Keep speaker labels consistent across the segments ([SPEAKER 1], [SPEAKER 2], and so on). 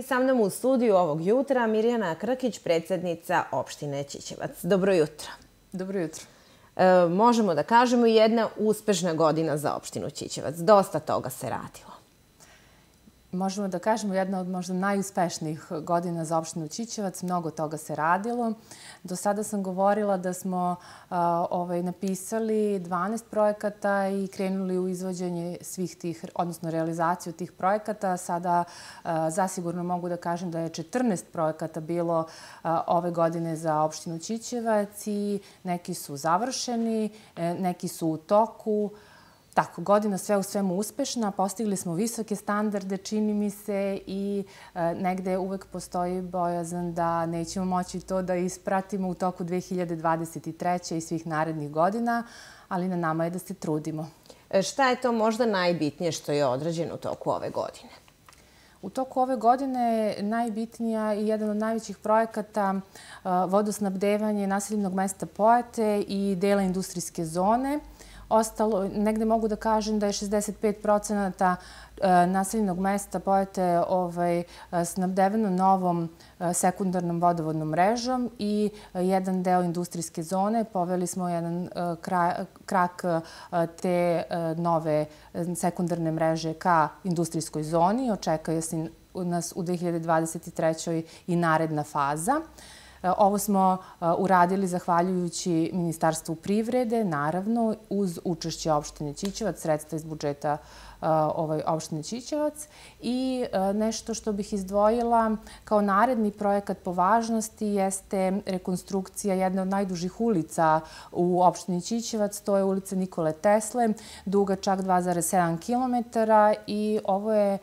[SPEAKER 1] sa mnom u studiju ovog jutra Mirjana Krkić, predsjednica opštine Ćićevac. Dobro jutro.
[SPEAKER 2] Dobro jutro.
[SPEAKER 1] Možemo da kažemo jedna uspešna godina za opštinu Ćićevac. Dosta toga se radilo.
[SPEAKER 2] Možemo da kažemo jedna od možda najuspešnijih godina za opštinu Ćićevac. Mnogo toga se radilo. Do sada sam govorila da smo napisali 12 projekata i krenuli u izvođenje svih tih, odnosno realizaciju tih projekata. Sada zasigurno mogu da kažem da je 14 projekata bilo ove godine za opštinu Ćićevac i neki su završeni, neki su u toku. Tako, godina sve u svemu uspešna, postigli smo visoke standarde, čini mi se, i negde uvek postoji bojazan da nećemo moći to da ispratimo u toku 2023. i svih narednih godina, ali na nama je da se trudimo.
[SPEAKER 1] Šta je to možda najbitnije što je odrađeno u toku ove godine?
[SPEAKER 2] U toku ove godine najbitnija i jedan od najvećih projekata vodosnabdevanje naseljenog mesta Pojate i dela industrijske zone. Ostalo, negde mogu da kažem da je 65% naseljenog mesta Pojate snabdeveno novom sekundarnom vodovodnom mrežom i jedan deo industrijske zone. Poveli smo jedan krak te nove sekundarne mreže ka industrijskoj zoni. Očekuje se nas u 2023. i naredna faza. Ovo smo uradili zahvaljujući Ministarstvu privrede, naravno, uz učešće opštine Ćićevac, sredstva iz budžeta opštine Ćićevac. I nešto što bih izdvojila kao naredni projekat po važnosti jeste rekonstrukcija jedne od najdužih ulica u opštini Ćićevac. To je ulica Nikole Tesle, duga čak 2,7 km i ovo je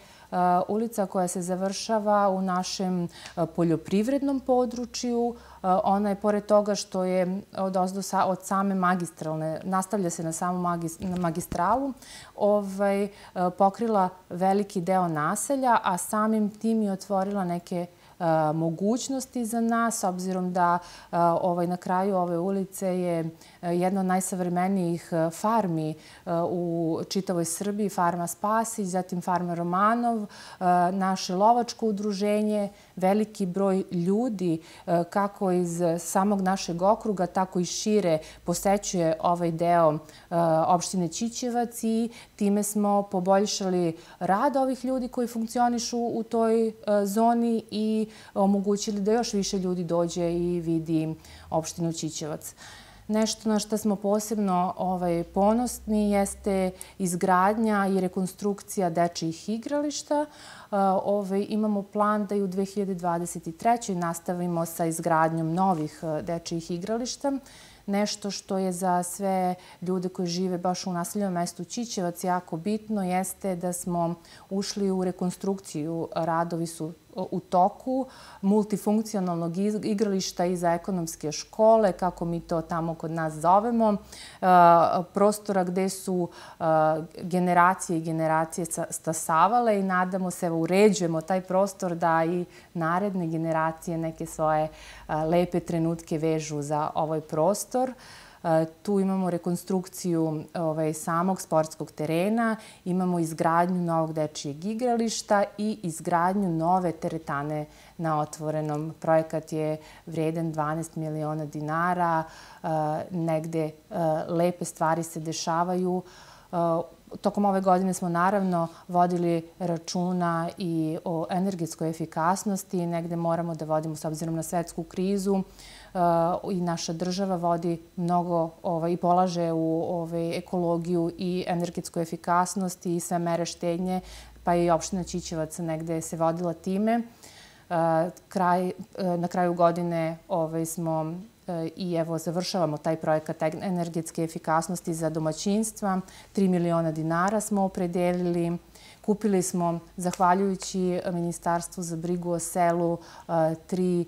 [SPEAKER 2] ulica koja se završava u našem poljoprivrednom području. Ona je, pored toga što je od same magistralne, nastavlja se na samu magistralu, pokrila veliki deo naselja, a samim tim je otvorila neke mogućnosti za nas, obzirom da na kraju ove ulice je jedna od najsavremenijih farmi u čitavoj Srbiji, farma Spasić, zatim farma Romanov, naše lovačko udruženje, veliki broj ljudi kako iz samog našeg okruga, tako i šire posećuje ovaj deo opštine Ćićevac i time smo poboljšali rad ovih ljudi koji funkcionišu u toj zoni i omogućili da još više ljudi dođe i vidi opštinu Ćićevac. Nešto na što smo posebno ponosni jeste izgradnja i rekonstrukcija dečijih igrališta. Imamo plan da i u 2023. nastavimo sa izgradnjom novih dečijih igrališta. Nešto što je za sve ljude koji žive baš u naseljenom mestu Ćićevac jako bitno jeste da smo ušli u rekonstrukciju. Radovi su u toku multifunkcionalnog igrališta i za ekonomske škole, kako mi to tamo kod nas zovemo, prostora gde su generacije i generacije stasavale i nadamo se, uređujemo taj prostor da i naredne generacije neke svoje lepe trenutke vežu za ovaj prostor. Tu imamo rekonstrukciju samog sportskog terena, imamo izgradnju novog dečijeg igrališta i izgradnju nove teretane na otvorenom. Projekat je vredan 12 miliona dinara, negde lepe stvari se dešavaju. Tokom ove godine smo naravno vodili računa i o energetskoj efikasnosti. Negde moramo da vodimo, s obzirom na svetsku krizu, i naša država vodi mnogo i polaže u ekologiju i energetsku efikasnost i sve mere štednje, pa i opština Ćićevac negde se vodila time. Na kraju godine smo i evo završavamo taj projekat energetske efikasnosti za domaćinstva. 3 miliona dinara smo opredelili. Kupili smo, zahvaljujući Ministarstvu za brigu o selu, 3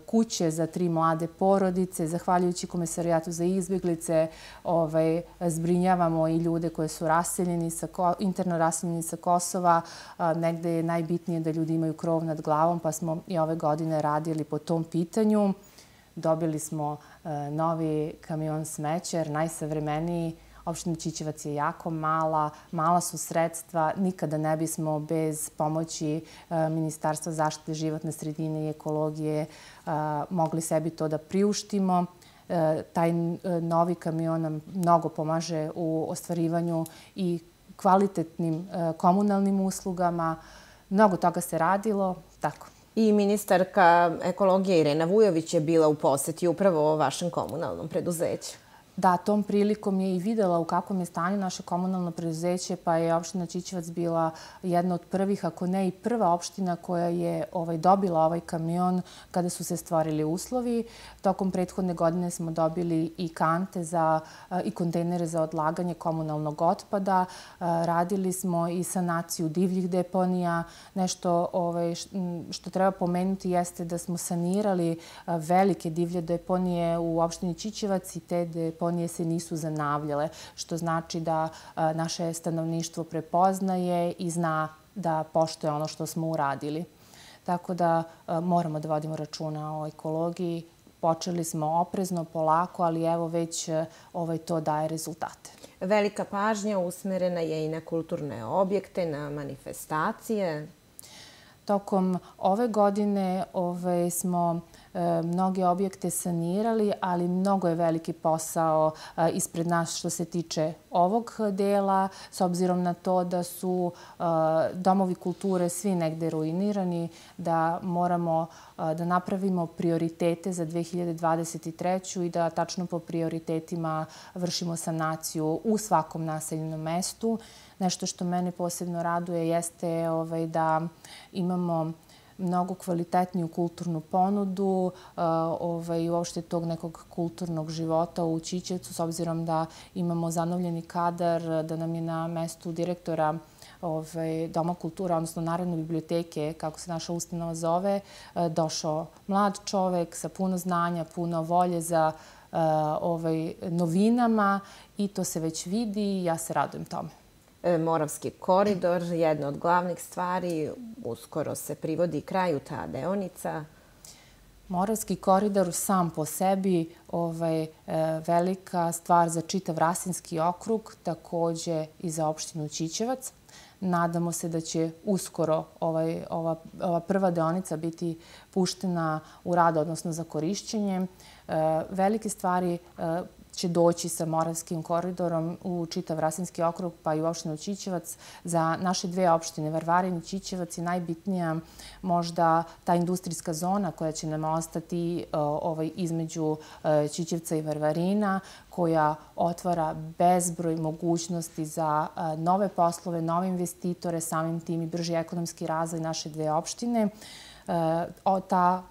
[SPEAKER 2] kuće za 3 mlade porodice. Zahvaljujući Komesarijatu za izbjeglice zbrinjavamo i ljude koji su interno raseljeni sa Kosova. Negde je najbitnije da ljudi imaju krov nad glavom, pa smo i ove godine radili po tom pitanju. Dobili smo novi kamion smećer, najsavremeniji, Opština Ćićevac je jako mala, mala su sredstva, nikada ne bismo bez pomoći Ministarstva zaštite životne sredine i ekologije mogli sebi to da priuštimo. Taj novi kamion nam mnogo pomaže u ostvarivanju i kvalitetnim komunalnim uslugama. Mnogo toga se radilo, tako.
[SPEAKER 1] I ministarka ekologije Irena Vujović je bila u poseti upravo vašem komunalnom preduzeću.
[SPEAKER 2] Da, tom prilikom je i videla u kakvom je stanju naše komunalno preduzeće, pa je opština Ćićevac bila jedna od prvih, ako ne i prva opština koja je dobila ovaj kamion kada su se stvorili uslovi. Tokom prethodne godine smo dobili i kante i kontejnere za odlaganje komunalnog otpada. Radili smo i sanaciju divljih deponija. Nešto što treba pomenuti jeste da smo sanirali velike divlje deponije u opštini Ćićevac i te deponije se nisu zanavljale, što znači da naše stanovništvo prepoznaje i zna da poštuje ono što smo uradili. Tako da moramo da vodimo računa o ekologiji. Počeli smo oprezno, polako, ali evo već to daje rezultate.
[SPEAKER 1] Velika pažnja usmerena je i na kulturne objekte, na manifestacije.
[SPEAKER 2] Tokom ove godine smo mnoge objekte sanirali, ali mnogo je veliki posao ispred nas što se tiče ovog dela, s obzirom na to da su domovi kulture svi negde ruinirani, da moramo da napravimo prioritete za 2023. i da tačno po prioritetima vršimo sanaciju u svakom naseljenom mestu. Nešto što mene posebno raduje jeste da imamo mnogo kvalitetniju kulturnu ponudu i uopšte tog nekog kulturnog života u Ćićevcu, s obzirom da imamo zanovljeni kadar, da nam je na mestu direktora Doma kulture, odnosno Narodne biblioteke, kako se naša ustanova zove, došao mlad čovek sa puno znanja, puno volje za novinama i to se već vidi i ja se radujem tome.
[SPEAKER 1] Moravski koridor, jedna od glavnih stvari, uskoro se privodi kraju ta deonica.
[SPEAKER 2] Moravski koridor sam po sebi velika stvar za čitav Rasinski okrug, takođe i za opštinu Ćićevac. Nadamo se da će uskoro ova prva deonica biti puštena u rad, odnosno za korišćenje. Velike stvari će doći sa Moravskim koridorom u čitav Rasinski okrug, pa i u opštinu Ćićevac. Za naše dve opštine, Varvarin i Ćićevac, je najbitnija možda ta industrijska zona koja će nam ostati između Ćićevca i Varvarina, koja otvara bezbroj mogućnosti za nove poslove, nove investitore, samim tim i brži ekonomski razvoj naše dve opštine. Ta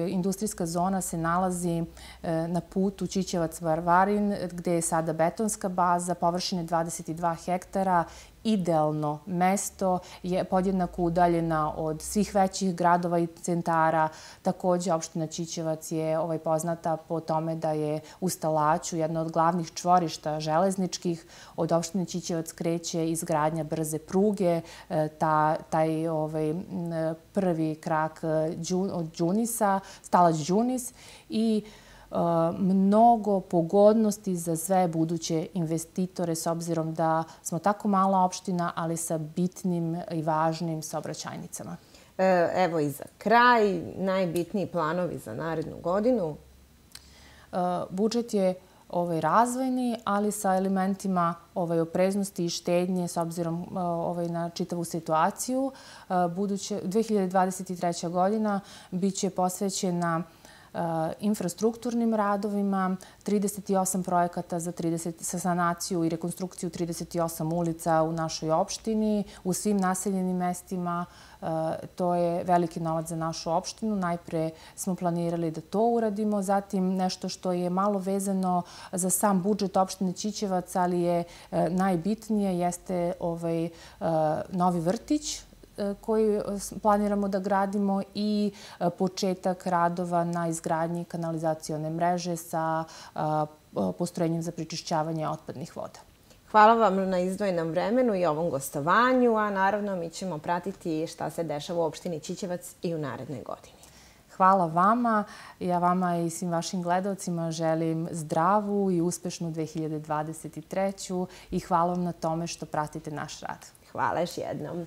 [SPEAKER 2] industrijska zona se nalazi na putu Ćićevac-Varvarin, gde je sada betonska baza, površine 22 hektara, idealno mesto, je podjednako udaljena od svih većih gradova i centara. Takođe, opština Ćićevac je poznata po tome da je u Stalaću jedna od glavnih čvorišta železničkih. Od opštine Ćićevac kreće izgradnja brze pruge, taj prvi krak od Đunisa, Stalać-Đunis i mnogo pogodnosti za sve buduće investitore, s obzirom da smo tako mala opština, ali sa bitnim i važnim saobraćajnicama.
[SPEAKER 1] Evo i za kraj, najbitniji planovi za narednu godinu?
[SPEAKER 2] Budžet je razvojni, ali sa elementima opreznosti i štednje, s obzirom na čitavu situaciju. 2023. godina biće posvećena infrastrukturnim radovima, 38 projekata za sanaciju i rekonstrukciju 38 ulica u našoj opštini, u svim naseljenim mestima. To je veliki novac za našu opštinu. Najpre smo planirali da to uradimo, zatim nešto što je malo vezano za sam budžet opštine Ćićevac, ali je najbitnije, jeste novi vrtić koji planiramo da gradimo i početak radova na izgradnji kanalizacione mreže sa postrojenjem za prečišćavanje otpadnih voda.
[SPEAKER 1] Hvala vam na izdvojenom vremenu i ovom gostovanju, a naravno mi ćemo pratiti šta se dešava u opštini Ćićevac i u narednoj godini.
[SPEAKER 2] Hvala vama. Ja vama i svim vašim gledalcima želim zdravu i uspešnu 2023. i hvala vam na tome što pratite naš rad.
[SPEAKER 1] Hvala još jednom.